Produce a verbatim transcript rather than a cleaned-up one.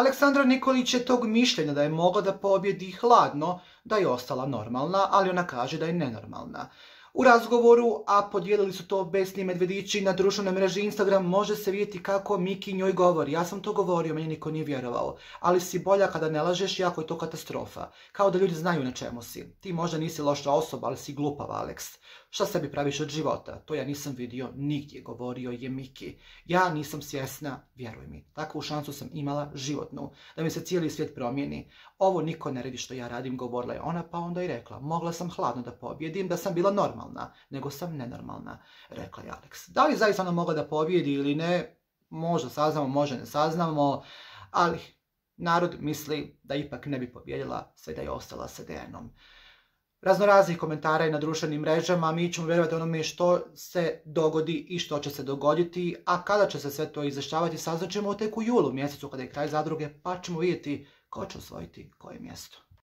Aleksandra Nikolić je tog mišljenja da je mogla da pobjedi hladno, da je ostala normalna, ali ona kaže da je nenormalna. U razgovoru, a podijelili su to Besni Medvedići na društvenoj mreži Instagram, može se vidjeti kako Miki njoj govori. Ja sam to govorio, meni niko nije vjerovao. Ali si bolja kada ne lažeš, jako je to katastrofa. Kao da ljudi znaju na čemu si. Ti možda nisi loša osoba, ali si glupav, Aleks. Šta sebi praviš od života? To ja nisam vidio nigdje, govorio je Miki. Ja nisam svjesna, vjeruj mi. Takvu šansu sam imala životnu, da mi se cijeli svijet promijeni. Ovo niko ne radi što ja radim, govorila je ona, pa onda i rekla. Mogla sam hladno da pobjedim, da sam bila normalna, nego sam nenormalna, rekla je Aleks. Da li zaista ona mogla da pobjedi ili ne, možda saznamo, možda ne saznamo, ali narod misli da ipak ne bi pobjedila, sve da je ostala sa Dejanom. Raznoraznih komentara i na društvenim mrežama, mi ćemo vjerovati onome što se dogodi i što će se dogoditi, a kada će se sve to izvještavati, saznaćemo tek u julu mjesecu kada je kraj zadruge, pa ćemo vidjeti ko će osvojiti koje mjesto.